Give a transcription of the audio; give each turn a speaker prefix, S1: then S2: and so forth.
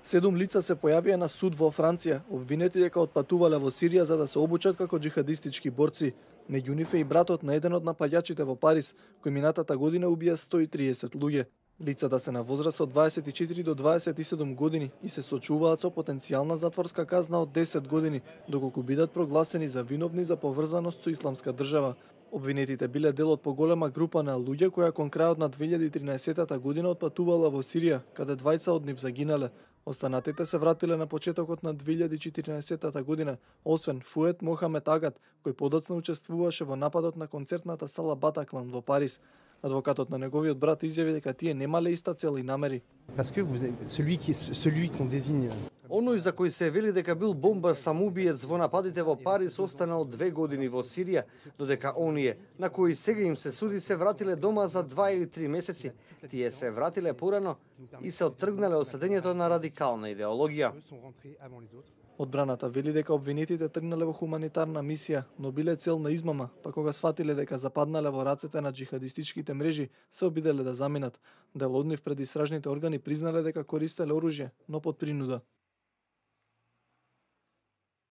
S1: 7 лица се појавија на суд во Франција, обвинети дека отпатувале во Сирија за да се обучат како џихадистички борци. Меѓу нив е и братот на еден од напаѓачите во Париз, кој минатата година убија 130 луѓе. Лицата се на возраст од 24 до 27 години и се сочуваат со потенцијална затворска казна од 10 години, доколку бидат прогласени за виновни за поврзаност со Исламска држава. Обвинетите биле дел од поголема група на луѓе која кон крајот на 2013 година отпатувала во Сирија, каде двајца од нив загинале. Останатите се вратиле на почетокот на 2014 година, освен Фует Мохамед Агат, кој подоцна учествуваше во нападот на концертната сала Батаклан во Париз. Адвокатот на неговиот брат изјави дека тие немале иста цел и намери.
S2: Оној за кој се вели дека бил бомбар самоубиец во нападите во Париз останал 2 години во Сирија, додека оние на кои сега им се суди се вратиле дома за 2 или 3 месеци. Тие се вратиле порано и се оттргнале од следењето на радикална идеологија.
S1: Одбраната вели дека обвинетите тргнале во хуманитарна мисија, но биле цел на измама, па кога сфатиле дека западнале во рацете на џихадистичките мрежи, се обиделе да заминат. Дел од нив пред истражните органи признале дека користеле оружје, но под принуда.